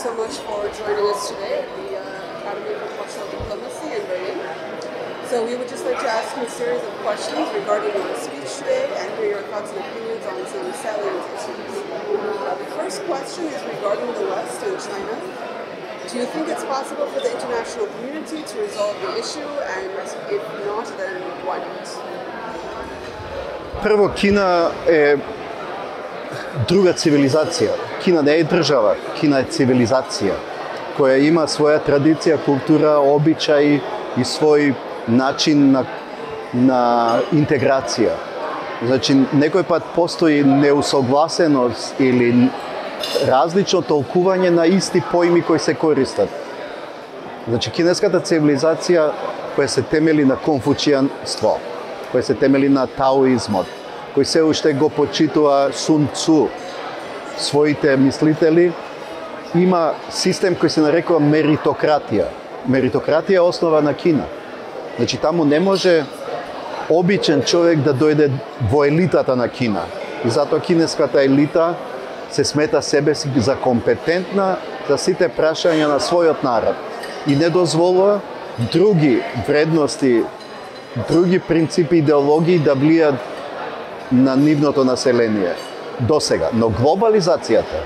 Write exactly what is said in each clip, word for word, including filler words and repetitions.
so much for joining us today at the uh, Academy for Cultural Diplomacy in Berlin. So we would just like to ask you a series of questions regarding your speech today and hear your thoughts and opinions on some salient issues. Uh, the first question is regarding the West and China. Do you think it's possible for the international community to resolve the issue, and if not, then why not? Прво, Кина е друга цивилизација. Кина не е држава, Кина е цивилизација, која има своја традиција, култура, обичаи и свој начин на, на интеграција. Значи, некој пат постои неусогласеност или различно толкување на исти поими кои се користат. Значи, кинеската цивилизација која се темели на конфуцијанство, која се темели на таоизмот, кој се уште го почитува Сун Цу, своите мислители, има систем кој се нарекува меритократија. Меритократија е основа на Кина. Значи, таму не може обичен човек да дојде во елитата на Кина. И затоа кинеската елита се смета себе си за компетентна за сите прашања на својот народ и не дозволува други вредности, други принципи, идеологии да влијат на нивното население до сега. Но глобализацијата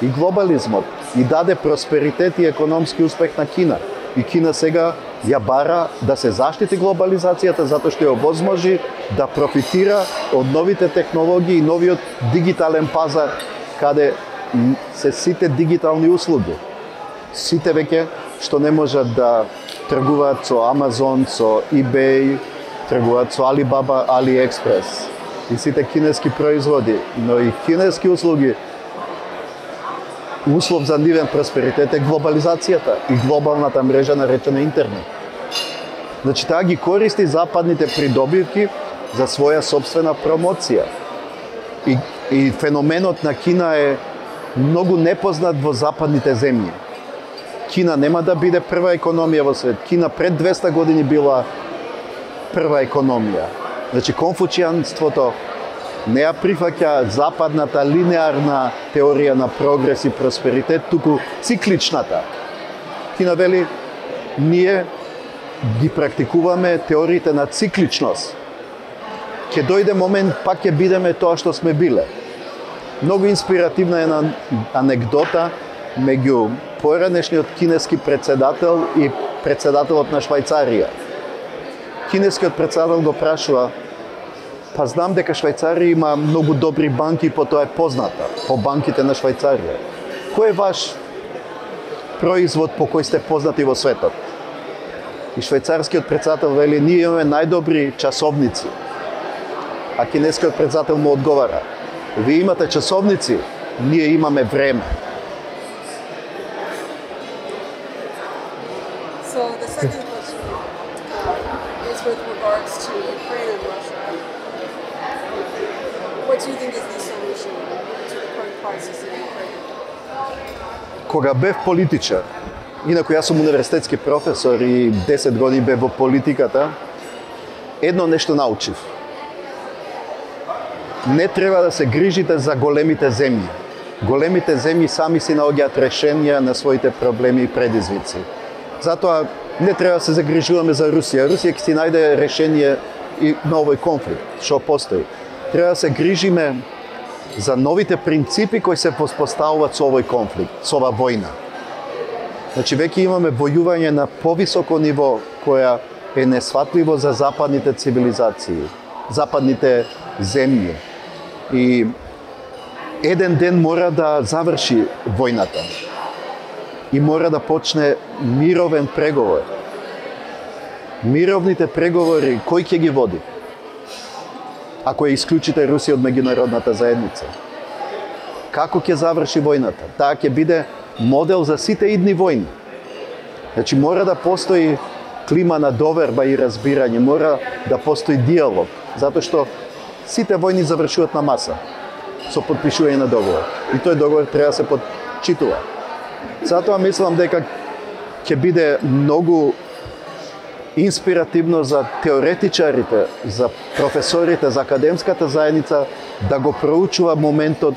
и глобализмот и даде просперитет и економски успех на Кина. И Кина сега ја бара да се заштити глобализацијата затоа што ја овозможи да профитира од новите технологии и новиот дигитален пазар каде се сите дигитални услуги. Сите веќе што не можат да тргуваат со Амазон, со eBay, тргуваат со Alibaba, AliExpress и сите кинески производи, но и кинески услуги. Услов за нивен просперитет е глобализацијата и глобалната мрежа наречена интернет. Значи, таа ги користи западните придобивки за своја собствена промоција. И, и феноменот на Кина е многу непознат во западните земји. Кина нема да биде прва економија во свет. Кина пред двеста години била прва економија. Значи, конфуцијанството не ја прифаќа западната линеарна теорија на прогрес и просперитет, туку цикличната. Кина вели, ние ги практикуваме теориите на цикличност. Ке дојде момент, пак ќе бидеме тоа што сме биле. Многу инспиративна е на анегдота меѓу поранешниот кинески председател и председателот на Швајцарија. Кинескиот председател го прашува: па знам дека Швајцарија има многу добри банки, по тоа е позната, по банките на Швајцарија. Кој е ваш производ по кој сте познати во светот? И швајцарскиот председател вели: ние имаме најдобри часовници. А кинескиот председател му одговара: вие имате часовници, ние имаме време. So the second question uh, is with regards to Ukraine and Russia. What do you think is the solution to the current crisis in Ukraine? Кога бев политичар, инаку јас сум универзитетски професор и десет години бев во политиката, едно нешто научив. Не треба да се грижите за големите земји. Големите земји сами си наоѓаат решенија на своите проблеми и предизвици. Затоа не треба да се загрижуваме за Русија. Русија ќе си најде решение и на овој конфликт што постои. Треба да се грижиме за новите принципи кои се воспоставуваат со овој конфликт, со ова војна. Значи, веќе имаме војување на повисоко ниво која е несфатливо за западните цивилизации, западните земји. И еден ден мора да заврши војната. И мора да почне мировен преговор. Мировните преговори, кој ќе ги води? Ако ја исклучите Русија од меѓународната заедница. Како ќе заврши војната? Таа ќе биде модел за сите идни војни. Значи, мора да постои клима на доверба и разбирање, мора да постои диалог, затоа што сите војни завршуваат на маса, со потпишување на договор. И тој договор треба да се почитува. Затоа мислам дека ќе биде многу инспиративно за теоретичарите, за професорите, за академската заедница да го проучува моментот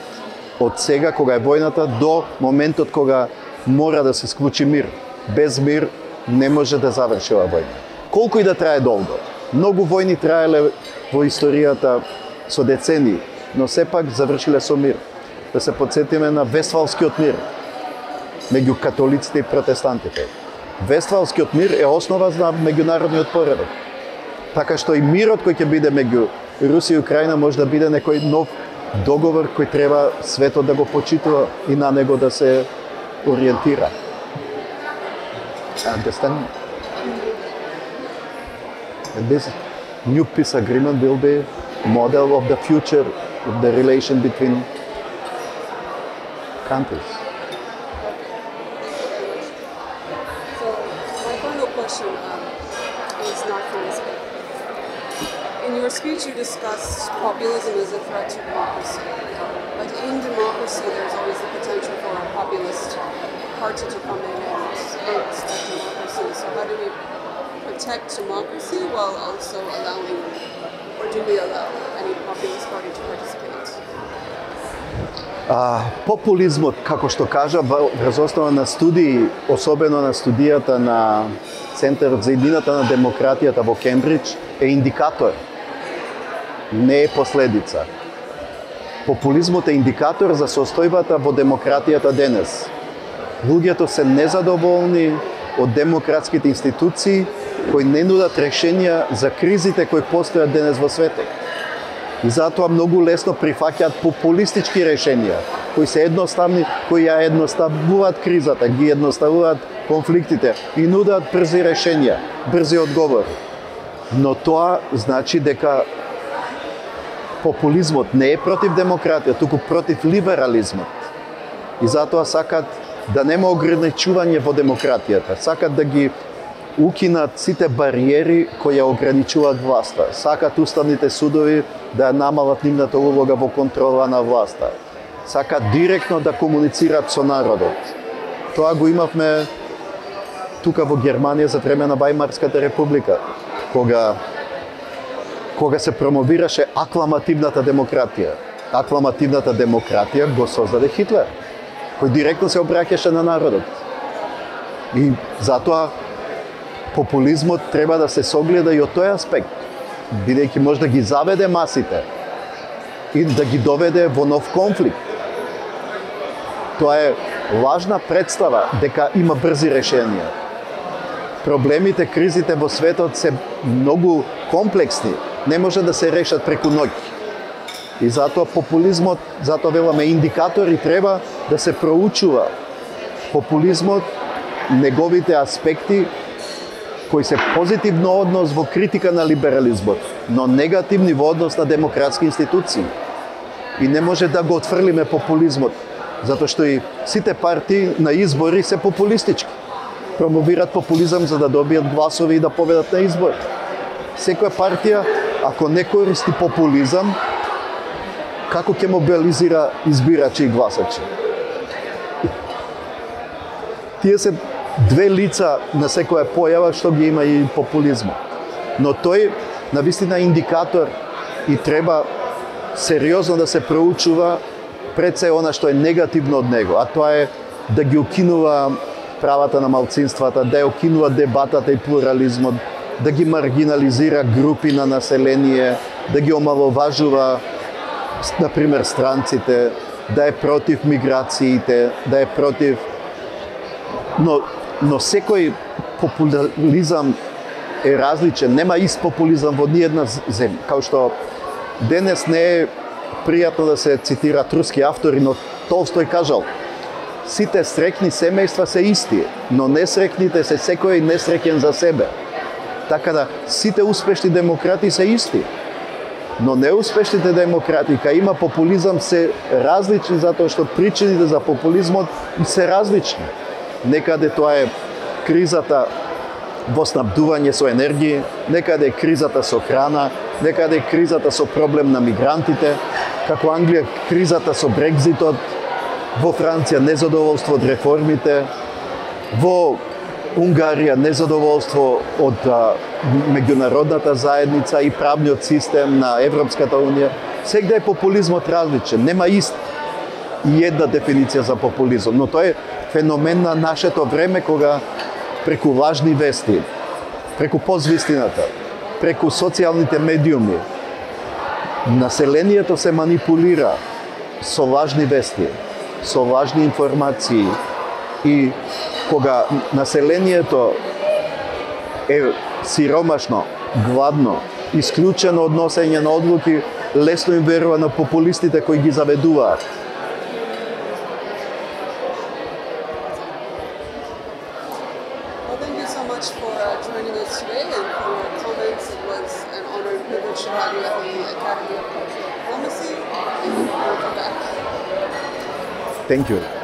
од сега кога е војната до моментот кога мора да се склучи мир. Без мир не може да заврши ова војна. Колку и да трае долго. Многу војни траеле во историјата со децении, но сепак завршиле со мир. Да се подсетиме на Вестфалскиот мир меѓу католиците и протестантите. Вестфалскиот мир е основа за меѓународниот поредок. Така што и мирот кој ќе биде меѓу Русија и Украина може да биде некој нов договор кој треба светот да го почитува и на него да се ориентира. Understand? And this new peace agreement will be model of the future of the relation between countries. So my final question um, is not from this book. In your speech, you discussed populism as a threat to democracy. But in democracy, there's always the potential for a populist party to come in and hurt that democracy. So how do we protect democracy while also allowing, or do we allow any populist party to participate? А, популизмот, како што кажа, врз основа на студии, особено на студијата на Центарот за иднината на демократијата во Кембридж, е индикатор, не е последица. Популизмот е индикатор за состојбата во демократијата денес. Луѓето се незадоволни од демократските институции кои не нудат решенија за кризите кои постојат денес во светот. И затоа многу лесно прифаќаат популистички решенија, кои се едноставни, кои ја едноставуваат кризата, ги едноставуваат конфликтите и нудат брзи решенија, брзи одговори. Но тоа значи дека популизмот не е против демократија, туку против либерализмот. И затоа сакат да нема ограничување во демократијата, сакат да ги укинат сите бариери кои ја ограничуваат власта. Сакат уставните судови да ја намалат нивната улога во контрола на власта. Сакат директно да комуницираат со народот. Тоа го имавме тука во Германија за време на Вајмарската република, кога кога се промовираше акламативната демократија. Акламативната демократија го создаде Хитлер, кој директно се обраќаше на народот. И затоа популизмот треба да се согледа и од тој аспект, бидејќи може да ги заведе масите и да ги доведе во нов конфликт. Тоа е лажна представа дека има брзи решенија. Проблемите, кризите во светот се многу комплексни, не може да се решат преку ноќ. И затоа популизмот, затоа веламе индикатори треба да се проучува. Популизмот, неговите аспекти кои се позитивно однос во критика на либерализмот, но негативни во однос на демократски институции. И не може да го отфрлиме популизмот, затоа што и сите партии на избори се популистички. Промовираат популизам за да добијат гласови и да победат на избори. Секоја партија, ако не користи популизам, како ќе мобилизира избирачи и гласачи? Тие се две лица на секоја појава што ги има и популизмот. Но тој навистина индикатор и треба сериозно да се проучува пред се она што е негативно од него, а тоа е да ги укинува правата на малцинствата, да ја укинува дебатата и плурализмот, да ги маргинализира групи на население, да ги омаловажува, например, странците, да е против миграциите, да е против... Но, но секој популизам е различен, нема ист популизам во ниедна земја. Као што денес не е пријатно да се цитираат руски автори, но Толстој кажал: сите среќни семејства се исти, но несреќните се секој несреќен за себе. Така да сите успешни демократи се исти, но неуспешните демократи, кај има популизам, се различни затоа што причините за популизмот се различни. Некаде тоа е кризата во снабдување со енергија, некаде е кризата со храна, некаде е кризата со проблем на мигрантите, како Англија кризата со Брекзитот, во Франција незадоволство од реформите, во Унгарија незадоволство од а, меѓународната заедница и правниот систем на Европската унија. Сегде е популизмот различен, нема ист и една дефиниција за популизм, но тоа е феномен на нашето време кога преку лажни вести, преку позвистината, преку социјалните медиуми, населението се манипулира со лажни вести, со лажни информации и кога населението е сиромашно, гладно, исклучено од носење на одлуки, лесно им верува на популистите кои ги заведуваат. Well, thank you so much for uh, joining us today and for your comments. It was an honor and privilege to have you at the Academy of Cultural Diplomacy. And we hope you're back. Thank you.